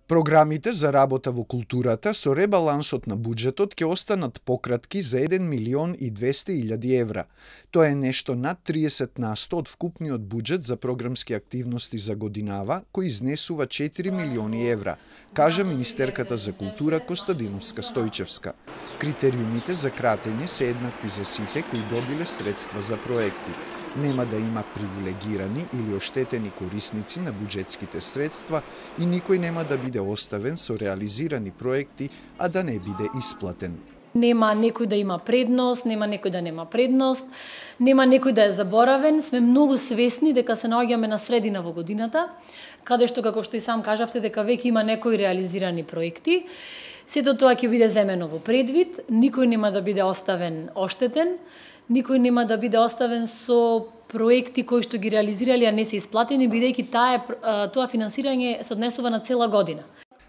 Програмите за работа во културата со ребалансот на буџетот ќе останат пократки за 1.200.000 евра. Тоа е нешто над 30% од вкупниот буџет за програмски активности за годинава, кој изнесува 4 милиони евра, кажа министерката за култура Костадиновска Стојчевска. Критериумите за кратење се еднакви за сите кои добиле средства за проекти. Нема да има привилегирани или оштетени корисници на буџетските средства и никој нема да биде оставен со реализирани проекти, а да не биде исплатен. Нема некој да има предност, нема некој да нема предност, нема некој да е заборавен. Сме многу свесни дека се наоѓаме на средина во годината, каде што, како што и сам кажавте, дека веќе има некои реализирани проекти. Сето тоа ќе биде земено во предвид, никој нема да биде оставен оштетен, никој нема да биде оставен со проекти кои што ги реализирали, а не се исплатени, бидејќи тоа финансирање се однесува на цела година.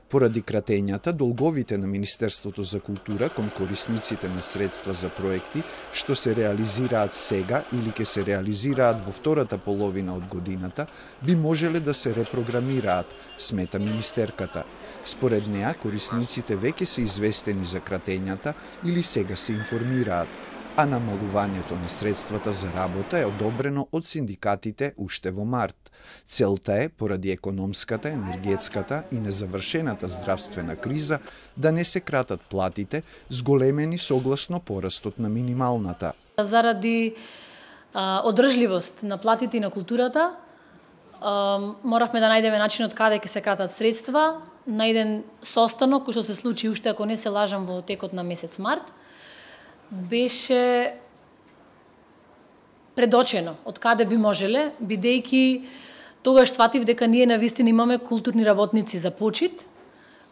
Поради кратењата, долговите на Министерството за култура кон корисниците на средства за проекти што се реализираат сега или ќе се реализираат во втората половина од годината, би можеле да се репрограмираат, смета министерката. Според неа, корисниците веќе се известени за кратењата или сега се информираат, а намалувањето на средствата за работа е одобрено од синдикатите уште во март. Целта е, поради економската, енергетската и незавршената здравствена криза, да не се кратат платите, зголемени согласно порастот на минималната. Заради одржливост на платите и на културата, моравме да најдеме начинот каде ќе се кратат средства на еден состанок кој што се случи уште, ако не се лажам, во текот на месец март. Беше предочено од каде би можеле, бидејќи тогаш сватив дека ние навистина имаме културни работници за почит,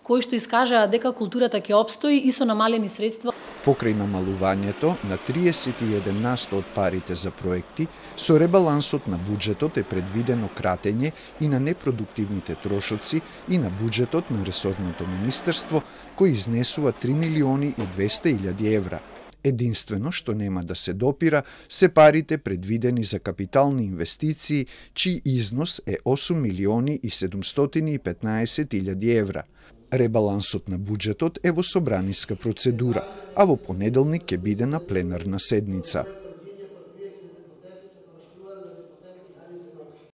кои што искажаа дека културата ќе опстои и со намалени средства. Покрај намалувањето на 31% од парите за проекти, со ребалансот на буџетот е предвидено кратење и на непродуктивните трошоци и на буџетот на ресорното министерство, кој изнесува 3.200.000 евра. Единствено што нема да се допира се парите предвидени за капитални инвестиции, чиј износ е 8.715.000 евра. Ребалансот на буџетот е во собраниска процедура, а во понеделник ќе биде на пленарна седница.